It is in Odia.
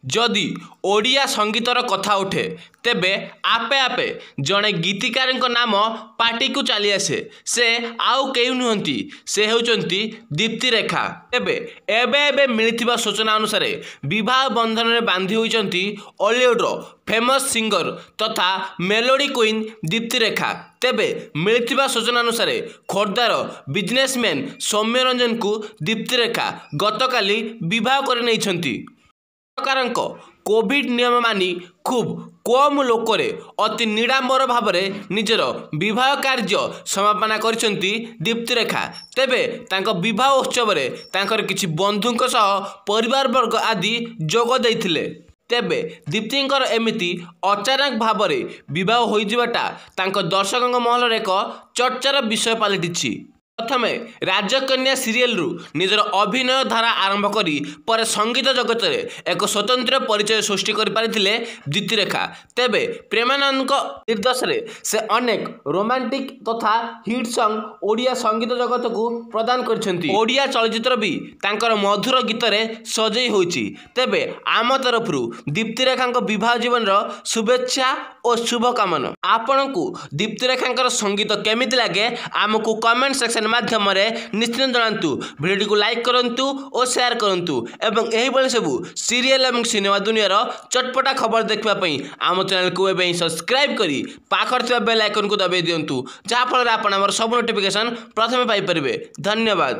ଯଦି ଓଡ଼ିଆ ସଙ୍ଗୀତର କଥା ଉଠେ, ତେବେ ଆପେ ଆପେ ଜଣେ ଗୀତିକାରଙ୍କ ନାମ ପାଟିକୁ ଚାଲିଆସେ। ସେ ଆଉ କେହି ନୁହନ୍ତି, ସେ ହେଉଛନ୍ତି ଦୀପ୍ତିରେଖା। ତେବେ ଏବେ ଏବେ ମିଳିଥିବା ସୂଚନା ଅନୁସାରେ ବିବାହ ବନ୍ଧନରେ ବାନ୍ଧି ହୋଇଛନ୍ତି ଓଲିଉଡର ଫେମସ୍ ସିଙ୍ଗର ତଥା ମେଲୋଡି କୁଇନ୍ ଦୀପ୍ତିରେଖା। ତେବେ ମିଳିଥିବା ସୂଚନା ଅନୁସାରେ ଖୋର୍ଦ୍ଧାର ବିଜନେସମ୍ୟାନ୍ ସୌମ୍ୟରଞ୍ଜନଙ୍କୁ ଦୀପ୍ତିରେଖା ଗତକାଲି ବିବାହ କରିନେଇଛନ୍ତି। ସରକାରଙ୍କ କୋଭିଡ ନିୟମ ମାନି ଖୁବ୍ କମ୍ ଲୋକରେ ଅତି ନିଡ଼ାମ୍ବର ଭାବରେ ନିଜର ବିବାହ କାର୍ଯ୍ୟ ସମାପନ କରିଛନ୍ତି ଦୀପ୍ତିରେଖା। ତେବେ ତାଙ୍କ ବିବାହ ଉତ୍ସବରେ ତାଙ୍କର କିଛି ବନ୍ଧୁଙ୍କ ସହ ପରିବାରବର୍ଗ ଆଦି ଯୋଗ ଦେଇଥିଲେ। ତେବେ ଦୀପ୍ତିଙ୍କର ଏମିତି ଅଚାନକ ଭାବରେ ବିବାହ ହୋଇଯିବାଟା ତାଙ୍କ ଦର୍ଶକଙ୍କ ମହଲରେ ଏକ ଚର୍ଚ୍ଚାର ବିଷୟ ପାଲଟିଛି। ପ୍ରଥମେ ରାଜକନ୍ୟା ସିରିଏଲରୁ ନିଜର ଅଭିନୟ ଧାରା ଆରମ୍ଭ କରି ପରେ ସଙ୍ଗୀତ ଜଗତରେ ଏକ ସ୍ୱତନ୍ତ୍ର ପରିଚୟ ସୃଷ୍ଟି କରିପାରିଥିଲେ ଦୀପ୍ତିରେଖା। ତେବେ ପ୍ରେମାନନ୍ଦଙ୍କ ନିର୍ଦ୍ଦେଶରେ ସେ ଅନେକ ରୋମାଣ୍ଟିକ ତଥା ହିଟ୍ ସଙ୍ଗ ଓଡ଼ିଆ ସଙ୍ଗୀତ ଜଗତକୁ ପ୍ରଦାନ କରିଛନ୍ତି। ଓଡ଼ିଆ ଚଳଚ୍ଚିତ୍ର ବି ତାଙ୍କର ମଧୁର ଗୀତରେ ସଜେଇ ହୋଇଛି। ତେବେ ଆମ ତରଫରୁ ଦୀପ୍ତିରେଖାଙ୍କ ବିବାହ ଜୀବନର ଶୁଭେଚ୍ଛା ଓ ଶୁଭକାମନା। ଆପଣଙ୍କୁ ଦୀପ୍ତିରେଖାଙ୍କର ସଙ୍ଗୀତ କେମିତି ଲାଗେ, ଆମକୁ କମେଣ୍ଟ ସେକ୍ସନ ମାଧ୍ୟମରେ ନିଶ୍ଚିତ ଜଣାନ୍ତୁ। ଭିଡ଼ିଓଟିକୁ ଲାଇକ୍ କରନ୍ତୁ ଓ ସେୟାର କରନ୍ତୁ ଏବଂ ଏହିଭଳି ସବୁ ସିରିଏଲ ଏବଂ ସିନେମା ଦୁନିଆର ଚଟପଟା ଖବର ଦେଖିବା ପାଇଁ ଆମ ଚ୍ୟାନେଲକୁ ଏବେ ହିଁ ସବସ୍କ୍ରାଇବ୍ କରି ପାଖରେ ଥିବା ବେଲ୍ ଆଇକନକୁ ଦବାଇ ଦିଅନ୍ତୁ, ଯାହାଫଳରେ ଆପଣ ଆମର ସବୁ ନୋଟିଫିକେସନ୍ ପ୍ରଥମେ ପାଇପାରିବେ। ଧନ୍ୟବାଦ।